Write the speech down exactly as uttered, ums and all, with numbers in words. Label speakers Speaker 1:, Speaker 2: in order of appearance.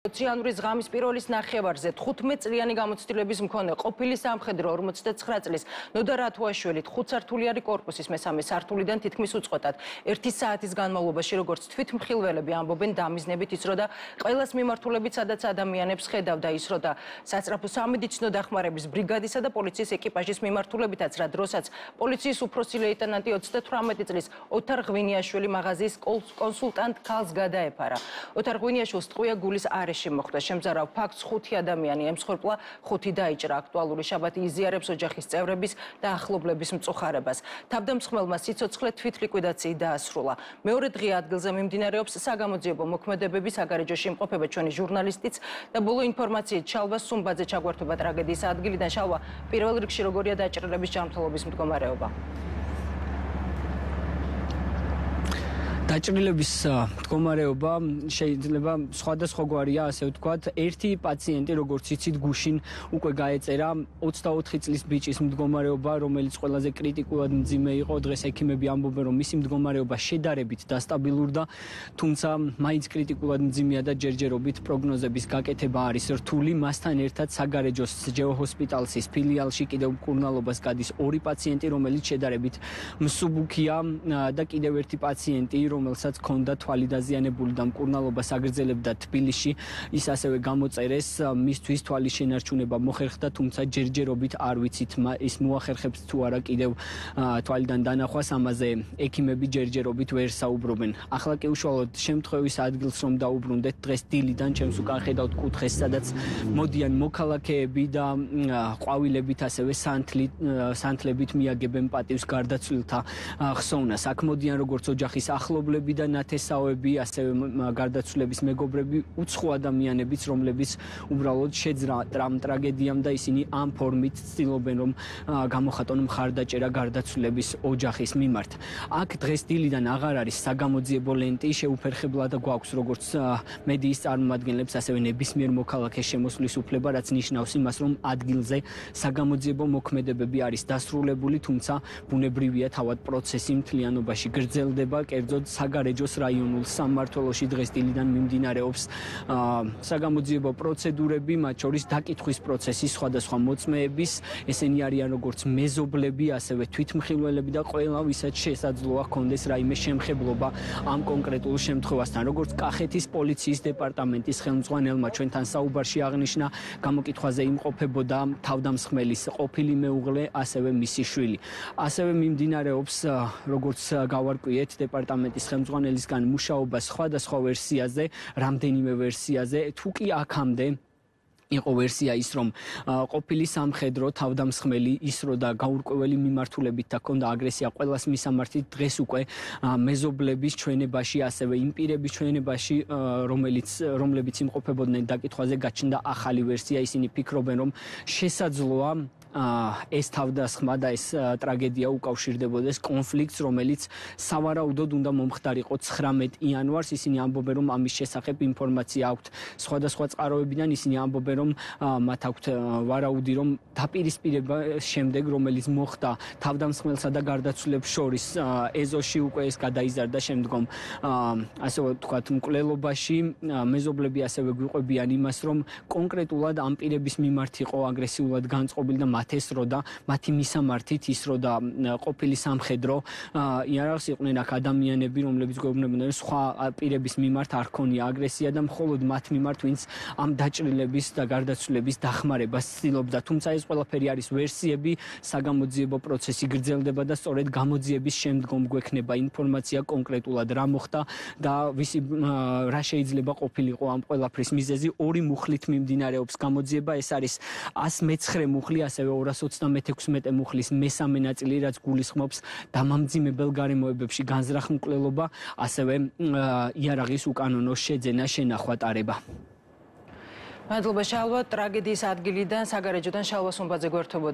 Speaker 1: იანვრის ღამის პირველის ნახევარზე თხუთმეტ წლიანი გამოცდილების მქონე ყოფილი სამხედრო ორმოცდათსხრა წლის ნოდა რათუაშვილი ხუთსართულიანი კორპუსის მესამე სართულიდან თითქმის უწყვეტად ერთი საათის განმავლობაში როგორც თვითმხილველები ამბობენ დამიზნებით ისრო და ყველას მიმართულებით სადაც ადამიანებს ხედავდა ისრო და სასწრაფო სამედიცინო დახმარების ბრიგადისა და პოლიციის ეკიპაჟის მიმართულებითაც რა დროსაც პოლიციის უფროსი ლეიტენანტი ოცდათვრამეტი წლის ოთარ ღვინიაშვილი მაღაზიის კონსულტანტ ქალს გადაეფარა. ოთარ ღვინიაშვილს ტყვია გულის არეში მოხდა შემზარავ ფაქტს ხუთი ადამიანი ემსხვერპლა, ხუთი დაიჭრა. აქტუალური შაბათი იზიარებს ოჯახის წევრების და ახლობლების მწუხარებას. თავდამსხმელმა სიცოცხლე თვითლიკვიდაციით დაასრულა. მეორე დღე ადგილზე მიმდინარეობს საგამოძიებო მოქმედებები, საგარეჯოში იმყოფება ჩვენი ჟურნალისტიც და ბოლო ინფორმაციით შალვა სუმბაძე ჩაგვართვება ტრაგედიის ადგილიდან. შალვა, პირველ რიგში როგორია დაჭრილების ჯანმრთელობის მდგომარეობა?
Speaker 2: დაჭრილების მდგომარეობა შეიძლება სხვადასხვაგვარია, ასე ვთქვათ. ერთი პაციენტი, როგორც იცით, გუშინ უკვე გაეწერა ოცდაოთხი წლის ბიჭის მდგომარეობა, რომელიც ყველაზე კრიტიკულად მძიმე იყო. დღეს ექიმები ამბობენ, რომ მისი მდგომარეობა შედარებით დასტაბილურდა, თუმცა მაინც კრიტიკულად მძიმეა და ჯერჯერობით პროგნოზების გაკეთება არის რთული. მასთან ერთად საგარეჯოს ჯეოჰოსპიტალსის ფილიალში კიდევ მკურნალობას გადის ორი პაციენტი, რომელიც შედარებით მსუბუქია და კიდევ ერთი პაციენტი, რომელსაც ჰქონდა თვალი დაზიანებული და მკურნალობას აგრძელებდა თბილისში. ის ასევე გამოწერეს, მისთვის თვალის შენარჩუნება მოხერხდა, თუმცა ჯერჯერობით არ ვიცით ის მოახერხებს თუ არა კიდევ თვალიდან დანახვას, ამაზე ექიმები ჯერჯერობით ვერ საუბრობენ. ახლა კი უშუალოდ შემთხვევის ადგილს რომ დაუბრუნდეთ, დღეს დილიდან ჩემს უკან ხედავთ კუთხეს, სადაც მოდიან მოქალაქეები და ყვავილებით ასევე სანთლით სანთლებით მიაგებენ პატივს გარდაცვლილთა ხსოვნას. აქ მოდიან როგორც ოჯახის ახლობლები და ნათესაოები, ასევე გარდაცვლილების მეგობრები, უცხო ადამიანებიც, რომლებიც უბრალოდ შეძრა ტრამ ტრაგედიამ და ისინი ამ ფორმით ცდილობენ რომ გამოხატონ მხარდაჭერა გარდაცვლილების ოჯახის მიმართ. აქ დღეს დილიდან აღარ არის საგამოძიებო ლენტი, შეუფერხებლად გვაქვს როგორც მედიის წარმომადგენლებს, ასევე ნებისმიერ მოქალაქეს შემოსვლის უფლება, რაც ნიშნავს იმას, რომ ადგილზე საგამოძიებო მოქმედებები არის დასრულებული, თუმცა ბუნებრივია თავად პროცესი მთლიანობაში გრძელდება. კერძოდ საგარეჯოს რაიონულ სამმართველოში დღეს დილიდან მიმდინარეობს საგამოძიებო პროცედურები, მათ შორის დაკითხვის პროცესი სხვადასხვა მოწმეების, ესენი არიან როგორც მეზობლები, ასევე თვითმხილველები და ყველა ვისაც შესაძლოა ჰქონდეს რაიმე შემხებლობა ამ კონკრეტულ შემთხვევასთან. როგორც კახეთის პოლიციის დეპარტამენტის ხელმძღვანელმა ჩვენთან საუბარში აღნიშნა, გამოკითხვაზე იმყოფებოდა თავდამსხმელის ყოფილი მეუღლე, ასევე მისი შვილი. ასევე მიმდინარეობს, როგორც გავარკვიეთ, დეპარტამენტის ხელმძღვანელისგან მუშაობა სხვადასხვა ვერსიაზე, რამდენიმე ვერსიაზე, თუ კი აქამდე იყო ვერსია ის, რომ ყოფილი სამხედრო თავდამსხმელი ისრო და გაურკვეველი მიმართულებით და ჰქონდა აგრესია ყველას მისამართით, დღეს უკვე მეზობლების ჩვენებაში, ასევე იმ პირების ჩვენებაში, რომელიც რომლებიც იმყოფებოდნენ დაკითხვაზე, გაჩნდა ახალი ვერსია. ისინი ფიქრობენ, რომ შესაძლოა ეს თავდასხმა და ეს ტრაგედია უკავშირდებოდეს კონფლიქტს, რომელიც სავარაუდოდ უნდა მომხდარიყო ცხრამეტ იანვარს. ისინი ამბობენ, რომ ამის შესახებ ინფორმაცია აქვთ სხვადასხვა წყაროებიდან. ისინი ამბობენ, რომ მათ აქვთ ვარაუდი, რომ დაპირისპირება შემდეგ, რომელიც მოხდა თავდამსხმელსა და გარდაცვლილებს შორის, ეზოში უკვე ეს გადაიზარდა შემდგომ, ასე ვთქვათ, მკვლელობაში. მეზობლები ასევე გვიყვებიან იმას, რომ კონკრეტულად ამ პირების მიმართ იყო აგრესიულად განწყობილი და ესრო და მათი მისამართით ისრო და ყოფილი სამხედრო იარაღს იყვნენ აქ ადამიანები, რომლებიც გვეუბნებოდნენ, სხვა პირების მიმართ არ ქონია აგრესია და მხოლოდ მათ მიმართ, ვინც ამ დაჭრილების და გარდაცვლილების დახმარებას ცდილობდა. თუმცა ეს ყველაფერი არის ვერსიები, საგამოძიებო პროცესი გრძელდება და სწორედ გამოძიების შემდგომ გვექნება ინფორმაცია კონკრეტულად რა მოხდა და ვისი რა შეიძლება ყოფილიყო ამ ყველაფრის მიზეზი. ორი მუხლით მიმდინარეობს გამოძიება, ეს არის ას მეცხრე მუხლი, ასევე ორას ოცდამეექვსმეტე მუხლის მესამე ნაწილი, რაც გულისხმობს დამამძიმებელ გარემოებებში განზრახ მკვლელობა, ასევე იარაღის უკანონო შეძენა, შენახვა, ტარება.
Speaker 1: მადლობა შალვა, ტრაგედიის ადგილიდან საგარეჯოდან შალვა სუმბაძე გვერდებოდა.